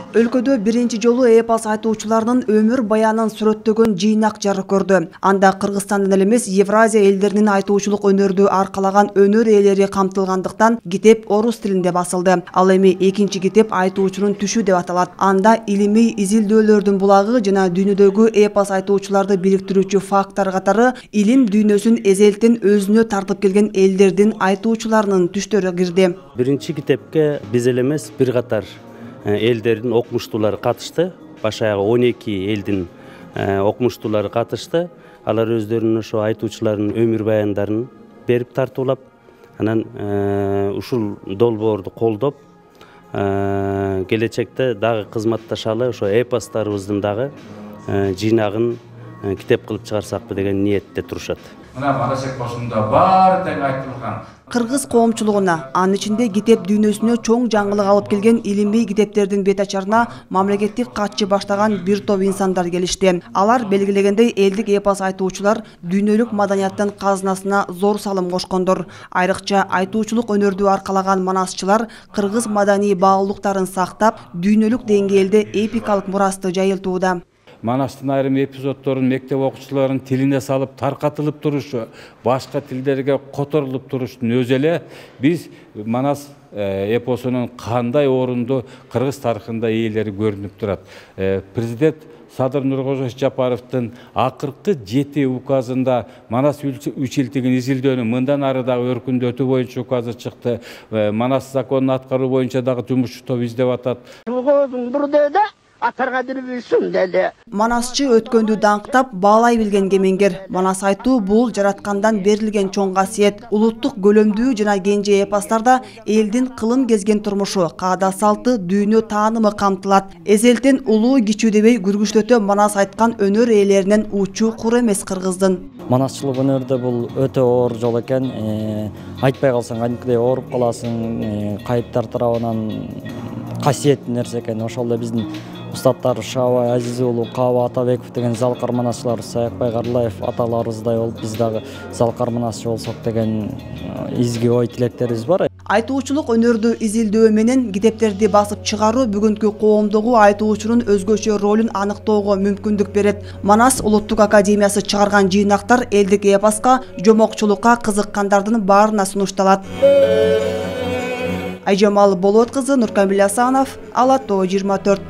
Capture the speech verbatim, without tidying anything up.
Өлкөдө биринчи жолу эпос айтуучуларынын өмүр баянын сүрөттөгөн жыйнак жарык көрдү. Анда Кыргызстандан эле эмес, Евразия элдеринин айтуучулук өнөрдү аркалаган өнөр ээлери камтылгандыктан китеп орус тилинде басылды. Ал эми экинчи китеп айтуучунун түшү деп аталат. Анда илимий изилдөөлөрдүн булагы жана дүйнөдөгү эпос айтуучуларды бириктирүүчү фактор катары илим дүйнөсүн эзелтен өзүнө тартып келген элдердин айтуучуларынын түштөрү кирди. Биринчи китепке биз эле эмес, бир катар элдердин окумуштуулары катышты. Баш аягы он эки элдин окумуштуулары катышты. Алар өздөрүнүн ошо айтуучулардын өмүр баяндарын берип тартуулап, анан ушул долбоорду колдоп, келечекте дагы кызматташалы, ошо эпостарыбыздын дагы жыйнагын китеп кылып чыгарсакпы деген ниетте турушат. Мына Манас эпосунда баары тең айтылган. Кыргыз коомчулугуна, анын ичинде китеп дүйнөсүнө чоң жаңылык алып келген илимий китептердин бет ачарына мамлекеттик катчы баштаган бир топ инсандар келишти. Алар белгилегендей элдик эпос айтуучулар дүйнөлүк маданияттын казынасына зор салым кошкондор. Айрыкча айтуучулук өнөрдү аркалаган манасчылар кыргыз маданий баалуулуктарын сактап, дүйнөлүк деңгээлде эпикалык мурасты жайылтууда. Манастын айрым эпизоддорун мектеп окуучуларынын тилине салып таркатылып турушу, башка тилдерге которулуп туруштун өзү эле биз Манас эпосунун кандай орунду кыргыз тарыхында ээлери көрүнүп турат. Президент Садыр Нуркожоевич Жапаровдун акыркы жети указында Манас үч илтигин изилдөөнү мындан ары дагы өркүндөтүү боюнча указы чыкты. Манас законун аткаруу боюнча дагы жумушчу топ издеп атат. Манасчы өткөндү даңктап, баалай билген кемеңгер. Манас айтуу бул жараткандан берилген чоң касиет. Улуттук көлөмдүү жана кенже эпостарда элдин кылым кезген турмушу, каада салты, дүйнө таанымы камтылат. Эзелтен улуу кичүү дебей күргүчтөтө Манас айткан өнөр ээлеринен учу кур эмес кыргыздын. Манасчылык өнөрдө бул өтө оор жол экен. Айтпай калсаң кадимкидей ооруп каласың, кайыптар тарабынан касиеттүү нерсе экен. Ошол эле биздин устаттар Шабай Азиз уулу, Каба Атабеков деген залкар манасчылар, Саякбай Карлаев аталарыбыздай болуп, биз дагы залкар манасчы болсок деген изги ой тилектерибиз бар. Айтуучулук өнөрдү изилдөө менен китептерди басып чыгаруу бүгүнкү коомдогу айтуучунун өзгөчө ролун аныктоого мүмкүндүк берет. Манас Улуттук академиясы чыгарган жыйнактар элдик эпоска, жомокчулукка кызыккандардын баарына сунушталат. Айжамал Болот кызы, Нуркамил Асанов, Ала Тоо жыйырма төрт.